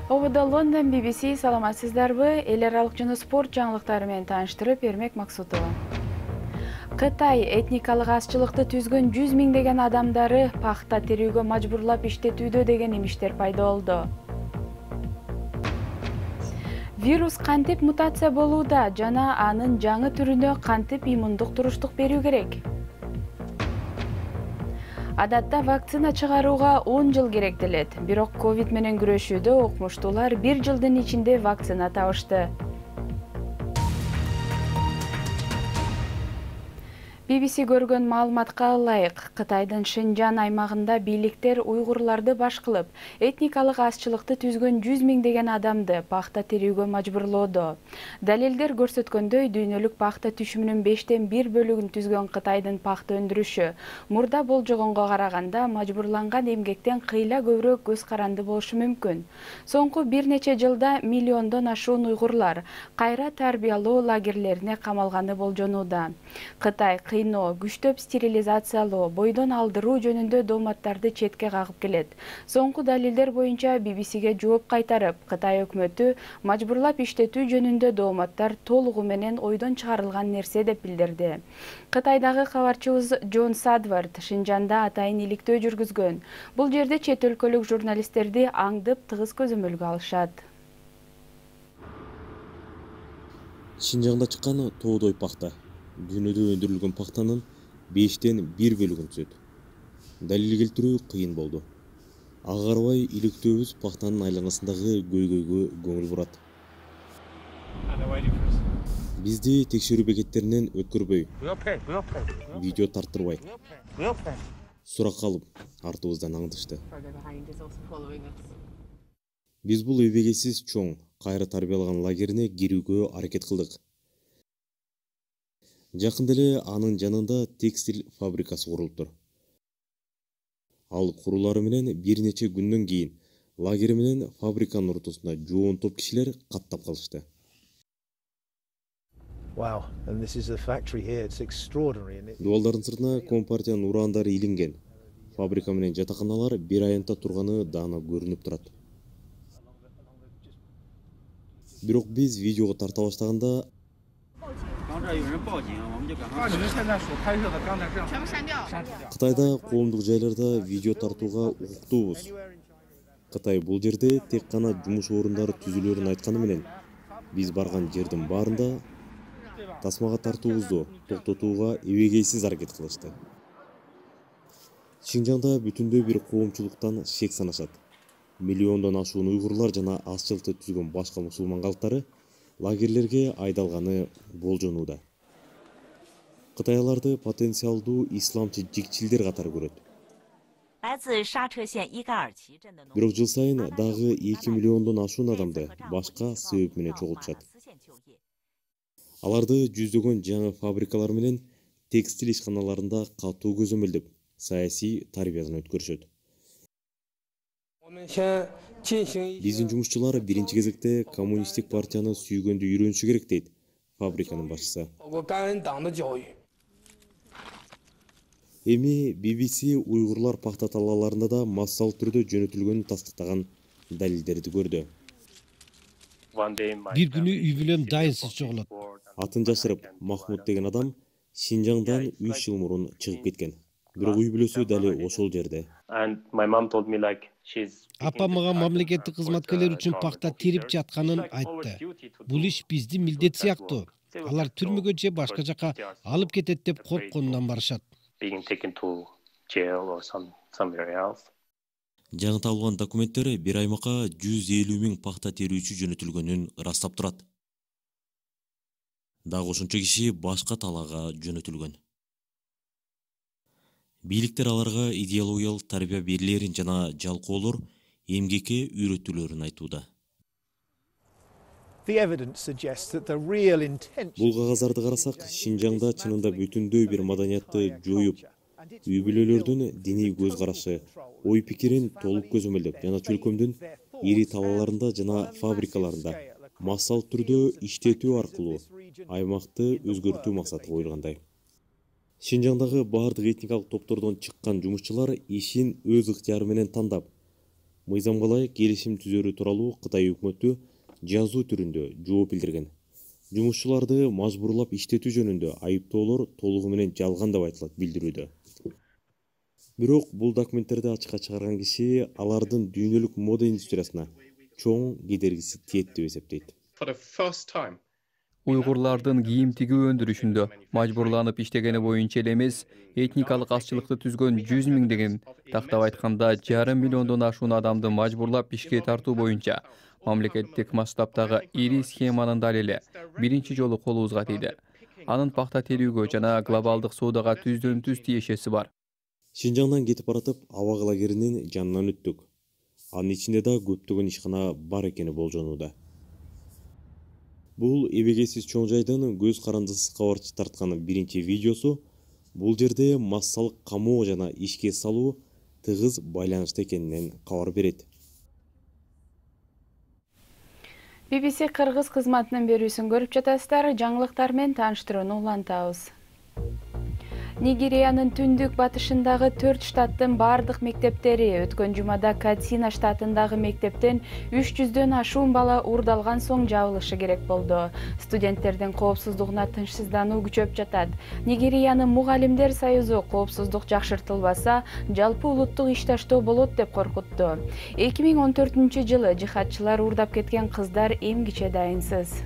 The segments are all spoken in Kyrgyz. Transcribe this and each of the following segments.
Ободо Лондон BBC саламатсыздарбы? Эл аралык жана спорт жаңылыктары менен тааныштырып бермек Максутова. Кытай этникалык азчылыкты түзгөн 100 миңдеген адамдары пахта терүүгө мажбурлап иштетүүдө деген имиштер пайда болду. Вирус кантип мутация болууда жана анын жаңы түрүнө кантип иммундук туруштук берүү керек? Адатта вакцина чыгарууга 10 жыл керектелет. Бирок ковид менен күрөшүүдө окумуштуулар 1 жылдын ичинде вакцина табышты. BBC көргөн маалыматка ылайык, Кытайдын Шинжан аймагында бийликтер уйгурларды баш кылып, этникалык азчылыкты түзгөн 100 миңдеген адамды пахта терүүгө мажбурлоодо. Далилдер көрсөткөндөй, дүйнөлүк пахта түшүмүнүн 5тен 1 бөлүгүн түзгөн Кытайдын пахта өндүрүшү мурда болжогонго караганда мажбурланган эмгектен кыйла көбүрөөк көз каранды болушу мүмкүн. Соңку бир нече жылда миллиондон ашуун уйгурлар кайра тарбиялоо лагерлерине камалганы болжонууда. Кытай кыйноо, күчтөп стерилизациялоо, бойдон алдыруу жөнүндө дооматтарды четке кагып келет. Соңку далилдер боюнча BBC-ге жооп кайтарып, Кытай өкмөтү мажбурлап иштетүү жөнүндө дооматтар толугу менен ойдон чыгарылган нерсе деп билдирди. Кытайдагы кабарчыбыз Джон Садвард Шинжанда атайын иликтөө жүргүзгөн. Бул жерде чет өлкөлүк журналисттерди аңдып тыгыз көзөмөлгө алышат. Шинжаңда чыккан тоодой пахта. Дүйнөдө өндүрүлгөн пахтанын 5тен 1 бөлүгүн түзөт. Далил келтирүү кыйын болду. Ага карабай иликтөөбүз пахтанын айланасындагы көйгөйгө көңүл бурат. Бизди текшерүү бекеттеринен өткөрбөй, видео тарттырбай, суракка алып, артыбыздан аңдышты. Биз бул эбегейсиз чоң, кайра тарбиялаган лагерине кирүүгө аракет кылдык. Жакында эле анын жанында текстиль фабрикасы курулуптур. Ал курулары менен бир нече күндөн кийин лагери менен фабриканын ортосунда жоон топ кишилер каттап калышты. Дубалдардын сыртына Компартиянын урандары илинген. Фабрика менен жатаканалар бир аянтта турганы даана көрүнүп турат. Бирок биз видеого тарта баштаганда Кытайда коомдук жайларда видео тартууга укуктуубуз. Кытай бул жерде тек гана жумуш орундары түзүлөрүн айтканы менен, биз барган жердин баарында тасмага тартуубузду токтотууга эбегейсиз аракет кылышты. Шинжаңда бүтүндөй бир коомчулуктан шек санашат. Миллиондон ашуун уйгурлар жана азчылыкты түзгөн башка мусулман калктары лагерлерге айдалганы болжонууда. Кытай аларды потенциалдуу исламчы жикчилдер катары көрөт. Бирок жыл сайын дагы 2 миллиондон ашуун адамды башка себеп менен чогултушат. Аларды жүздөгөн жаңы фабрикалар менен текстиль ишканаларында катуу көзөмөлдөп, саясий тарбиядан өткөрүшөт. Биздин жумушчулар биринчи кезекте коммунисттик партияны сүйгөндү үйрөнүшү керек дейт фабриканын башчысы. Эми BBC уйгурлар пахта талааларында да массалык түрдө жөнөтүлгөнүн тастыктаган далилдерди көрдү. Бир күнү үй бүлөм дайынсыз чогулат. Атын жашырып, Махмуд деген адам Шинжаңдан 3 жыл мурун чыгып кеткен. Бирок үй бүлөсү дали ошол жерде. Апам мага мамлекеттик кызматкерлер үчүн пахта терип жатканын айтты. Бул иш биздин милдет сыяктуу. Алар түрмөгө же башка жака алып кетет деп коркконунан барышат. Жаңы табылган документтер бир аймакка 150 миң пахта терүүчү жөнөтүлгөнүн ырастап турат. Дагы ошончо киши башка талаага жөнөтүлгөн. Бийликтер аларга идеологиялык тарбия берилерин жана жалкоолор, эмгекке үйрөтүүлөрүн айтууда. Бул кагаздарды карасак, Шинжаңда чынында бүтүндөй бир маданиятты жоюп, үй бүлөлөрдүн диний көз карашы, ой пикирин толук көзөмөлдөп жана чөлкөмдүн ири талааларында жана фабрикаларында массалык түрдө иштетүү аркылуу аймакты өзгөртүү максаты коюлгандай. Шинжаңдагы бардык этникалык топтордон чыккан жумушчулар ишин өз ыктыяры менен тандап, мыйзамга ылайык келишим түзөрү тууралуу Кытай өкмөтү жазуу түрүндө жооп билдирген. Жумушчуларды мажбурлап иштетүү жөнүндө айыптоолор толугу менен жалган деп айтылат билдирүүдө. Бирок бул документтерди ачыкка чыгарган киши алардын дүйнөлүк мода индустриясына чоң кедергиси тиет деп эсептейт. Уйгурлардын кийим тигүү өндүрүшүндө мажбурланып иштегени боюнча эле эмес, этникалык азчылыкты түзгөн 100 миңдеген, тактап айтканда 5,5 миллиондон ашуун адамды мажбурлап ишке тартуу боюнча мамлекеттик масштабтагы ири схеманын далили биринчи жолу колубузга тийди. Анын пахта терүүгө жана глобалдык соодага түздөн түз тиешеси бар. Шинжаңдан кетип баратып, аба лагеринин жанынан өттүк. Анын ичинде да көптөгөн ишкана бар экени болжонууда. Бул эбегейсиз чоң жайдын көз карандысыз кабарчы тарткан биринчи видеосу. Бул жерде массалык камоо жана ишке салуу тыгыз байланышта экенинен кабар берет. BBC Кыргыз кызматынын берүүсүн көрүп жатасыздар. Жаңылыктар менен тааныштырууну улантабыз. Нигериянын түндүк батышындагы 4 штаттын бардык мектептери өткөн жумада Катсина штатындагы мектептен 300дөн ашуун бала уурдалган соң жабылышы керек болду. Студенттердин коопсуздугуна тынчсыздануу күчөп жатат. Нигериянын мугалимдер союзу коопсуздук жакшыртылбаса, жалпы улуттук ишташтоо болот деп коркутту. 2014-жылы жихадчылар уурдап кеткен кыздар эмгиче дайынсыз.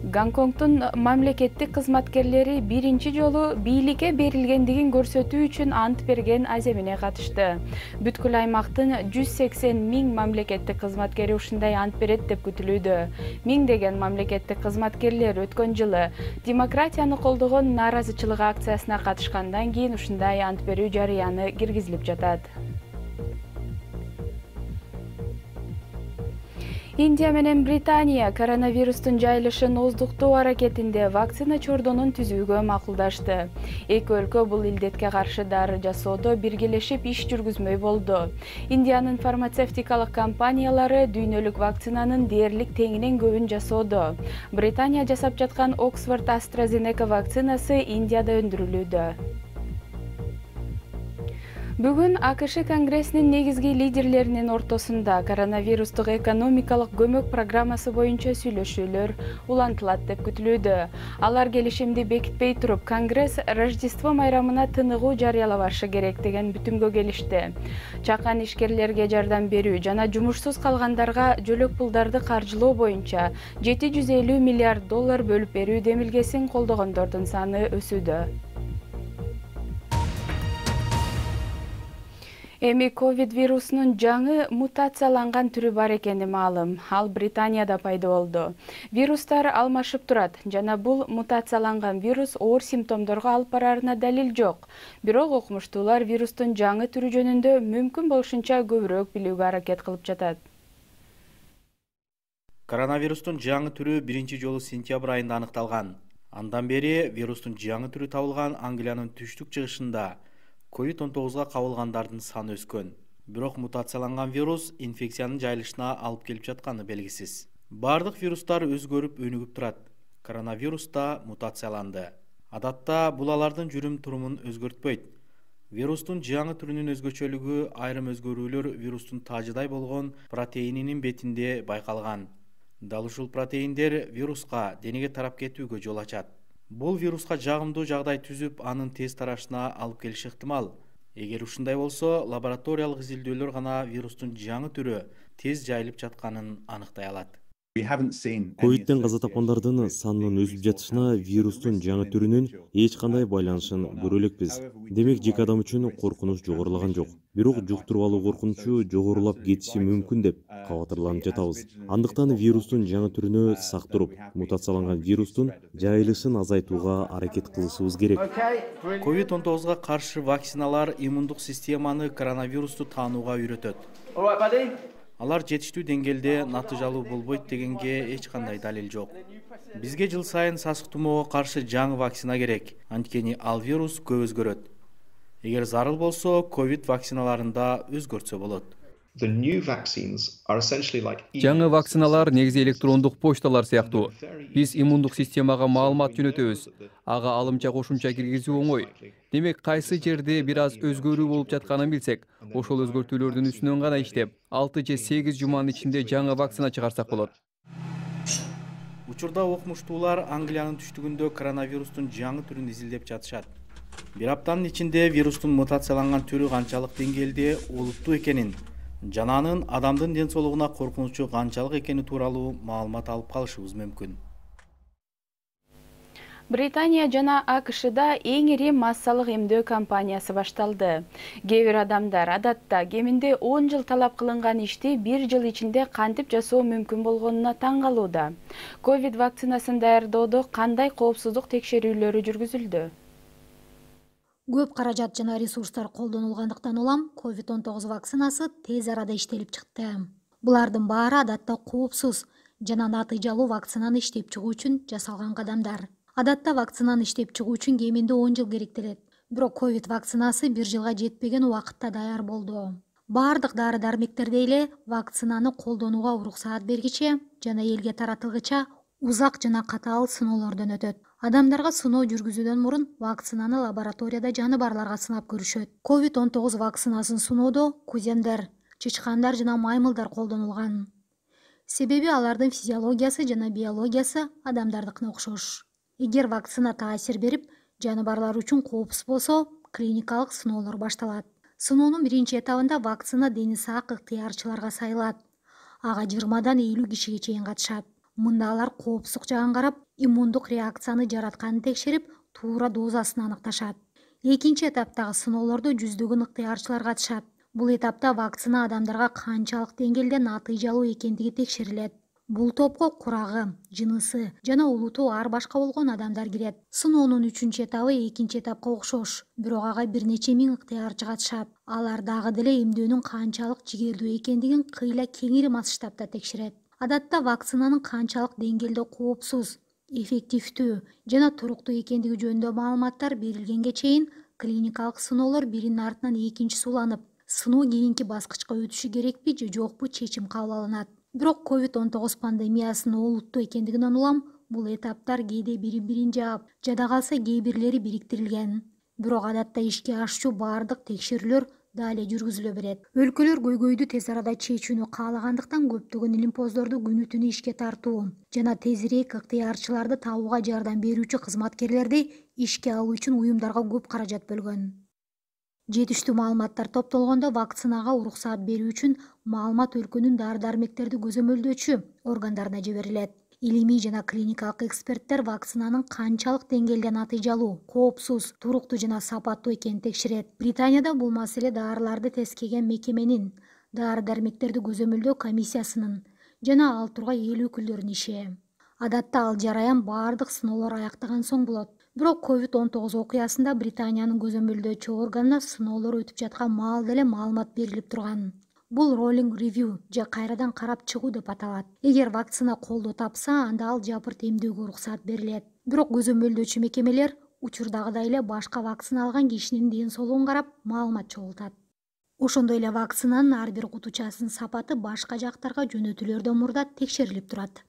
Гонконгдун мамлекеттик кызматкерлери биринчи жолу бийликке берилгендигин көрсөтүү үчүн ант берген аземине катышты. Бүткүл аймактын 180 миң мамлекеттик кызматкери ушундай ант берет деп күтүлүүдө. Миңдеген мамлекеттик кызматкерлер өткөн жылы демократияны колдогон нааразычылык акциясына катышкандан кийин ушундай ант берүү жарыяны киргизилип жатат. Индия менен Британия коронавирустун жайылышын оздуктоо аракетинде вакцина чордонун түзүүгө макулдашты. Эки өлкө бул илдетке каршы дары жасоодо биргелешип иш жүргүзмөй болду. Индиянын фармацевтикалык компаниялары дүйнөлүк вакцинанын дээрлик теңинен көбүн жасоодо. Британия жасап жаткан Oxford AstraZeneca вакцинасы Индияда өндүрүлүүдө. Бүгүн АКШ Конгрессинин негизги лидерлеринин ортосунда коронавирустук экономикалык көмөк программасы боюнча сүйлөшүүлөр улантылат деп күтүлүүдө. Алар келишимди бекитпей туруп, Конгресс Рождество майрамына тыныгуу жарыялабашы керек деген бүтүмгө келишти. Чакан ишкерлерге жардам берүү жана жумушсуз калгандарга жөлөк пулдарды каржылоо боюнча $750 миллиард бөлүп берүү демилгесин колдогондордун саны өсүүдө. Эми ковид вирусунун жаңы мутацияланган түрү бар экени маалым. Ал Британияда пайда болду. Вирустар алмашып турат жана бул мутацияланган вирус оор симптомдорго алып барарына далил жок. Бирок окумуштуулар вирустун жаңы түрү жөнүндө мүмкүн болушунча көбүрөөк билүүгө аракет кылып жатат. Коронавирустун жаңы түрү биринчи жолу сентябрь айында аныкталган. Андан бери вирустун жаңы түрү табылган Англиянын түштүк чыгышында COVID-19-га кабылгандардын саны өскөн. Бирок мутацияланган вирус инфекциянын жайылышына алып келип жатканы белгисиз. Бардык вирустар өзгөрүп, өнүгүп турат. Коронавирус да мутацияланды. Адатта бул алардын жүрүм турумун өзгөртпөйт. Вирустун жаңы түрүнүн өзгөчөлүгү айрым өзгөрүүлөр вирустун таажыдай болгон протеининин бетинде байкалган. Дал ушул протеиндер вируска денеге тарап кетүүгө жол ачат. Бул вируска жагымдуу жагдай түзүп, анын тез тарашына алып келиши ыктымал. Эгер ушундай болсо, лабораториялык изилдөөлөр гана вирустун жаңы түрү тез жайылып жатканын аныктай алат. Ковидтен каза тапкандардын санынын өсүп жатышына вирустун жаңы түрүнүн эч кандай байланышын көрө элекпиз. Демек, жеке адам үчүн коркунуч жогорулаган жок. Бирок жуктуруп алуу коркунучу жогорулап кетиши мүмкүн деп кабатырланып жатабыз. Андыктан вирустун жаңы түрүнө сак туруп, мутацияланган вирустун жайылышын азайтууга аракет кылышыбыз керек. COVID-19-га каршы вакциналар иммундук системаны коронавирусту таанууга үйрөтөт. Алар жетиштүү деңгээлде натыйжалуу болбойт дегенге эч кандай далил жок. Бизге жыл сайын сасык тумоого каршы жаңы вакцина керек, анткени ал вирус көп өзгөрөт. Эгер зарыл болсо, ковид вакциналарында өзгөртсө болот. Жаңы вакциналар негизи электрондук почталар сыяктуу. Биз иммундук системага маалымат жөнөтөбүз. Ага алымча кошумча киргизүү оңой. Демек кайсы жерде бир аз өзгөрүү болуп жатканын билсек, ошол өзгөртүүлөрдүн үстүнөн гана иштеп, 6 же 8 жуманын ичинде жаңы вакцина чыгарсак болот. Учурда окумуштуулар Англиянын түштүгүндө коронавирустун жаңы түрүн изилдеп жатышат. Бир аптанын ичинде вирустун мутацияланган түрү канчалык деңгээлде олуттуу экенин жана анын адамдын ден соолугуна коркунучу канчалык экени тууралуу маалымат алып калышыбыз мүмкүн. Британия жана АКШда эң ири массалык эмдөө кампаниясы башталды. Кээ бир адамдар адатта кеминде 10 жыл талап кылынган ишти 1 жыл ичинде кантип жасоо мүмкүн болгонуна таң калууда. Ковид вакцинасын даярдоодо кандай коопсуздук текшерүүлөрү жүргүзүлдү? Көп каражат жана ресурстар колдонулгандыктан улам COVID-19 вакцинасы тез арада иштелип чыкты. Булардын баары адатта коопсуз жана натыйжалуу вакцинаны иштеп чыгуу үчүн жасалган кадамдар. Адатта вакцинаны иштеп чыгуу үчүн кеминде 10 жыл керектелет. Бирок ковид вакцинасы 1 жылга жетпеген убакытта даяр болду. Бардык дары-дармектерде эле вакцинаны колдонууга уруксаат бергиче жана элге таратылгыча узак жана катаал сыноолордон өтөт. Адамдарга сыноо жүргүзүүдөн мурун вакцинаны лабораторияда жаныбарларга сынап көрүшөт. COVID-19 вакцинасын сыноодо куземдер, чычкандар жана маймылдар колдонулган. Себеби алардын физиологиясы жана биологиясы адамдардыкына окшош. Эгер вакцина таасир берип, жаныбарлар үчүн коопсуз болсо, клиникалык сыноолор башталат. Сыноонун биринчи этабында вакцина дени сак ыктыярчыларга сайылат. Ага 20-дан 50 кишиге чейин катышат. Мында алар коопсуздук жагын карап, иммундук реакцияны жаратканын текшерип, туура дозасын аныкташат. Экинчи этаптагы сыноолордо жүздөгөн ыктыярчылар катышат. Бул этапта вакцина адамдарга канчалык деңгээлде натыйжалуу экендиги текшерилет. Бул топко курагы, жынысы жана улуту ар башка болгон адамдар кирет. Сыноонун 3-чү этабы 2-чи этапка окшош, бирок ага бир нече миң ыктыярчы катышат. Алар дагы деле эмдөөнүн канчалык жигердүү экендигин кыйла кеңири масштабта текшерет. Адатта вакцинанын канчалык деңгээлде коопсуз, эффективдүү жана туруктуу экендиги жөнүндө маалыматтар берилгенге чейин клиникалык сыноолор биринин артынан экинчиси уланып, сыноо кийинки баскычка өтүшү керекпи же жокпу чечим кабыл алынат. Бирок COVID-19 пандемиясынын олуттуу экендигинен улам бул этаптар кээде бири-бирин жаап, жада калса кээ бирлери бириктирилген. Бирок адатта ишке ашчу бардык текшерүүлөр да эле жүргүзүлө берет. Өлкөлөр көйгөйдү тез арада чечүүнү каалагандыктан көптөгөн илимпоздорду күнү-түнү ишке тартуу жана тезирээк ыктыярчыларды табууга жардам берүүчү кызматкерлерди ишке алуу үчүн уюмдарга көп каражат бөлгөн. Жетиштүү маалыматтар топтолгондо вакцинага уруксаат берүү үчүн маалымат өлкөнүн дары-дармектерди көзөмөлдөөчү органдарына жиберилет. Илимий жана клиникалык эксперттер вакцинанын канчалык деңгээлде натыйжалуу, коопсуз, туруктуу жана сапаттуу экенин текшерет. Британияда бул маселе даарыларды тескеген мекеменин, дары-дармектерди көзөмөлдөө комиссиясынын жана ал тургай эл өкүлдөрүнүн иши. Адатта ал жараян бардык сыноолор аяктаган соң болот. Бирок COVID-19 окуясында Британиянын көзөмөлдөөчү органына сыноолор өтүп жаткан маалда эле маалымат берилип турган. Бул rolling review же кайрадан карап чыгуу деп аталат. Эгер вакцина колдоо тапса, анда ал жапырт эмдөөгө уруксаат берилет. Бирок көзөмөлдөөчү мекемелер учурдагыдай эле башка вакцина алган кишинин ден соолугун карап маалымат чогултат. Ошондой эле вакцинанын ар бир кутучасынын сапаты башка жактарга жөнөтүлөрдөн мурда текшерилип турат.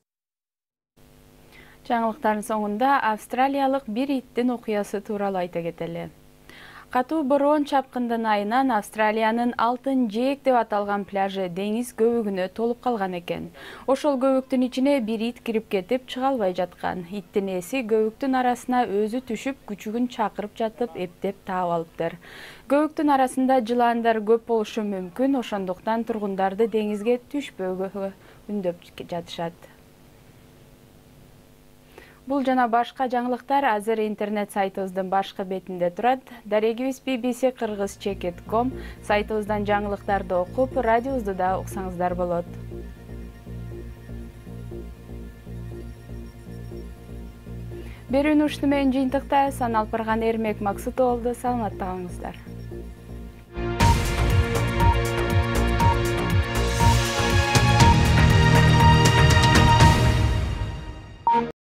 Жаңылыктардын соңунда австралиялык бир иттин окуясы тууралуу айта кетели. Катуу бороон чапкындын айынан Австралиянын Алтын жээк деп аталган пляжы деңиз көбүгүнө толуп калган экен. Ошол көбүктүн ичине бир ит кирип кетип чыга албай жаткан. Иттин ээси көбүктүн арасына өзү түшүп, күчүгүн чакырып жатып, эптеп таап алыптыр. Көбүктүн арасында жыландар көп болушу мүмкүн, ошондуктан тургундарды деңизге түшпөөгө үндөп жатышат. Бул жана башка жаңылыктар азыр интернет сайтыбыздын башкы бетинде турат. Дарегибиз bbc-kyrgyz.com сайтыбыздан жаңылыктарды окуп, радиобузду да уксаңыздар болот. Берүүнү ушуну менен жыйынтыктайбыз. Алпарган Эрмек Максутов болду. Саламатта калыңыздар.